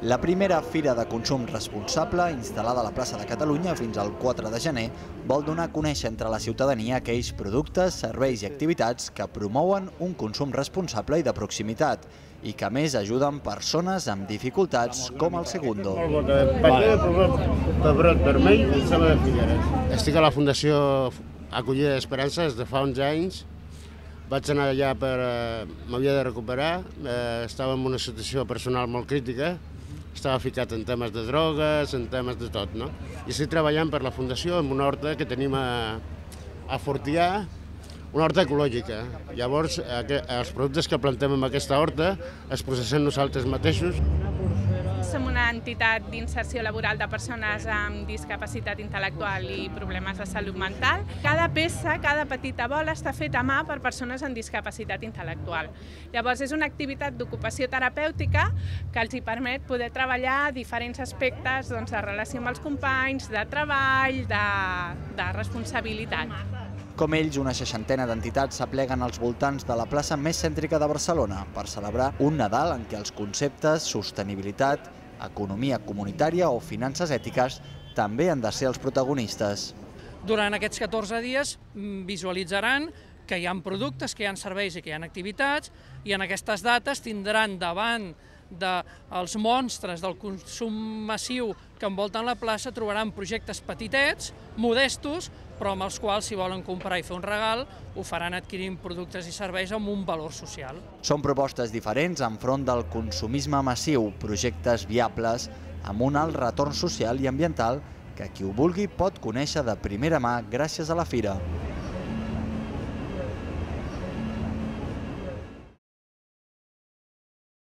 La primera Fira de Consum Responsable, instal·lada a la plaça de Catalunya fins al 4 de gener, vol donar a conèixer entre la ciutadania aquells productes, serveis i activitats que promouen un consum responsable i de proximitat i que a més ajuden persones amb dificultats com el Segundo. Pebrot vermell i ceba de Figueres. Estic a la Fundació Acollida d'Esperança des de fa 11 anys. Vaig anar allà m'havia de recuperar, estava en una situació personal molt crítica, estava ficat en temes de drogues, en temes de tot, no? I estic treballant per la Fundació en una horta que tenim a Fortià, una horta ecològica. Llavors, els productes que plantem en aquesta horta els processem nosaltres mateixos. Som una entitat d'inserció laboral de persones amb discapacitat intel·lectual i problemes de salut mental. Cada peça, cada petita bola està feta a mà per persones amb discapacitat intel·lectual. Llavors és una activitat d'ocupació terapèutica que els permet poder treballar diferents aspectes de relació amb els companys, de treball, de responsabilitat. Com ells, una 60ena d'entitats s'apleguen als voltants de la plaça més cèntrica de Barcelona per celebrar un Nadal en què els conceptes sostenibilitat, economia comunitària o finances ètiques també han de ser els protagonistes. Durant aquests 14 dies visualitzaran que hi ha productes, que hi ha serveis i que hi ha activitats, i en aquestes dates tindran davant dels monstres del consum massiu que envolten la plaça, trobaran projectes petitets, modestos, però amb els quals, si volen comprar i fer un regal, ho faran adquirint productes i serveis amb un valor social. Són propostes diferents enfront del consumisme massiu, projectes viables amb un alt retorn social i ambiental que qui ho vulgui pot conèixer de primera mà gràcies a la fira.